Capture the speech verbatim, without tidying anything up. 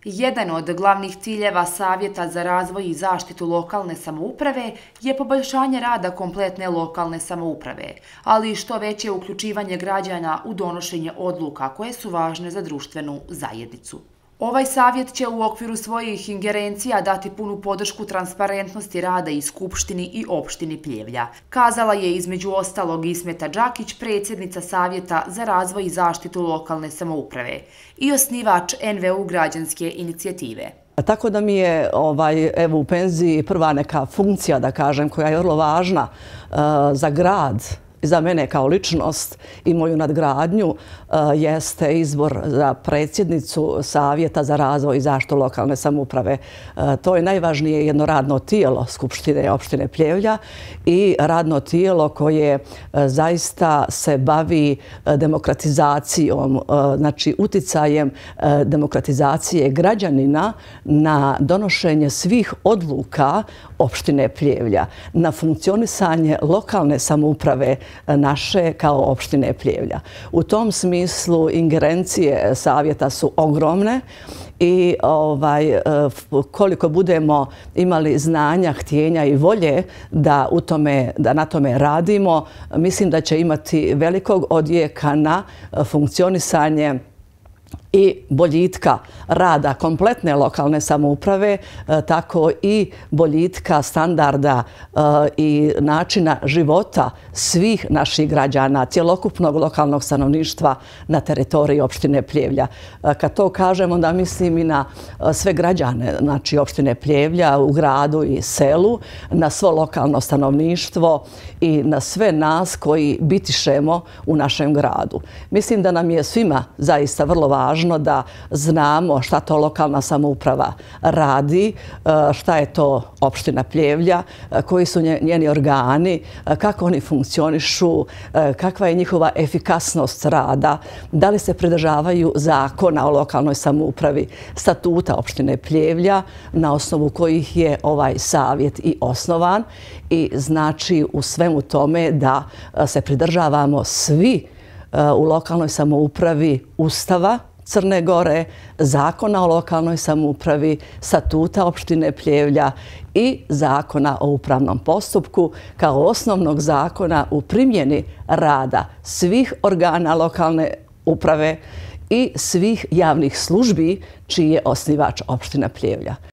Jedan od glavnih ciljeva Savjeta za razvoj i zaštitu lokalne samouprave je poboljšanje rada kompletne lokalne samouprave, ali i što veće uključivanje građana u donošenje odluka koje su važne za društvenu zajednicu. Ovaj savjet će u okviru svojih ingerencija dati punu podršku transparentnosti rada i Skupštini i opštini Pljevlja, kazala je između ostalog Ismeta Đakić, predsjednica Savjeta za razvoj i zaštitu lokalne samouprave i osnivač en ve u građanske inicijative. Tako da mi je ovaj, evo, u penziji prva neka funkcija, da kažem, koja je vrlo važna uh, za grad, za mene kao ličnost i moju nadgradnju uh, jeste izbor za predsjednicu Savjeta za razvoj i zaštitu lokalne samouprave. Uh, to je najvažnije jedno radno tijelo Skupštine opštine Pljevlja i radno tijelo koje uh, zaista se bavi uh, demokratizacijom, uh, znači uticajem uh, demokratizacije građanina na donošenje svih odluka opštine Pljevlja, na funkcionisanje lokalne samouprave naše kao opštine Pljevlja. U tom smislu ingerencije savjeta su ogromne i ovaj, koliko budemo imali znanja, htjenja i volje da, u tome, da na tome radimo, mislim da će imati velikog odjeka na funkcionisanje i boljitka rada kompletne lokalne samouprave, tako i boljitka standarda i načina života svih naših građana, cjelokupnog lokalnog stanovništva na teritoriji opštine Pljevlja. Kad to kažem, onda mislim i na sve građane, znači opštine Pljevlja u gradu i selu, na svo lokalno stanovništvo i na sve nas koji bitišemo u našem gradu. Mislim da nam je svima zaista vrlo važno da znamo šta to lokalna samouprava radi, šta je to opština Pljevlja, koji su njeni organi, kako oni funkcionišu, kakva je njihova efikasnost rada, da li se pridržavaju zakona o lokalnoj samoupravi, statuta opštine Pljevlja, na osnovu kojih je ovaj savjet i osnovan, i znači u svemu tome da se pridržavamo svi u lokalnoj samoupravi Ustava Crne Gore, zakona o lokalnoj samoupravi, statuta opštine Pljevlja i zakona o upravnom postupku kao osnovnog zakona u primjeni rada svih organa lokalne uprave i svih javnih službi čiji je osnivač opština Pljevlja.